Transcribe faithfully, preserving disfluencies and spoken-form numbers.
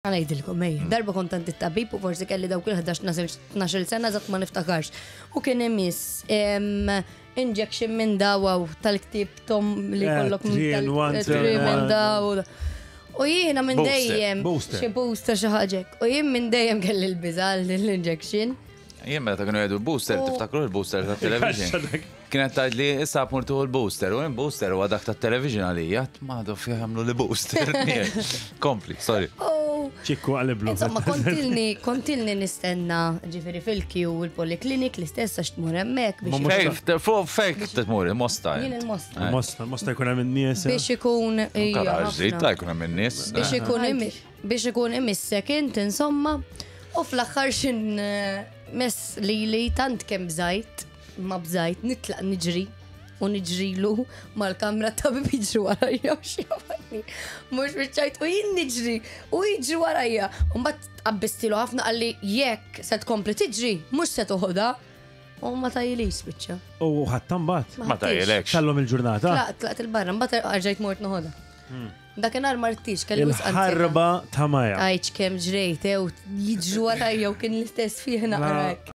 Ħa ngħidilkom, ejja. Darba kont għand it-tabib u forsi kelli dawk il-ħdax tnax-il sena, eżatt ma niftakarx. U kien imiss em, injection minn daw tal-ktib tom li Eh, kollok three in one, three two in minn one. daw. U jiena minn Booster, dejjem booster. xi booster, xi ħaġa. U jien minn dejjem kelli l-biża' l-injection. Jien meta kienu jgħidu booster, U- tiftakru l-booster ta' television. Kienet tgħid li issa mur tieħu l-booster, u jien booster huwa dak ta' television għalija, ma do fih jagħmlu li booster. Kompli, sorry. U ċikku għaliblu. Insomma, kontilni, kontilni nistenna, ġifieri, fil-queue il-poliklinik l-istess għax tmur hemmhekk Ma biex mhux- Fej, fuq fejk tmur, il-Mosta. Jien int. il-Mosta. Eh. Mosta, Mosta jkun hemm in-nies. Biex ikun ija, Karaġ, ħafna. ta' jkun hemm in-nies. Biex ikun imi- biex ikun imissek int, insomma, u fl-aħħar xin eh, mess li li tant kemm bżajt, ma bżajt, nitlaq niġri u niġrilu mal-kamra tabib jiġri warajja u xi. Mhux biċċajt, u jien niġri u jiġri warajja. U mbagħad qabbistilu ħafna, qalli jekk se tkompli tiġri, mhux se toħodha. U ma tajilix biċċa. U ħadd mbagħad. Ma tajilekx. Tallum il-ġurnata. Tlaqt, tlaqt il-barra, mbagħad rġajt mort noħodha. Dakinhar martix, kelli wisq ansjetà. Il-ħarba ta' Maja. Għajċ kemm ġrejt, ew, jiġru warajja u kien l-istess fih naqra hekk.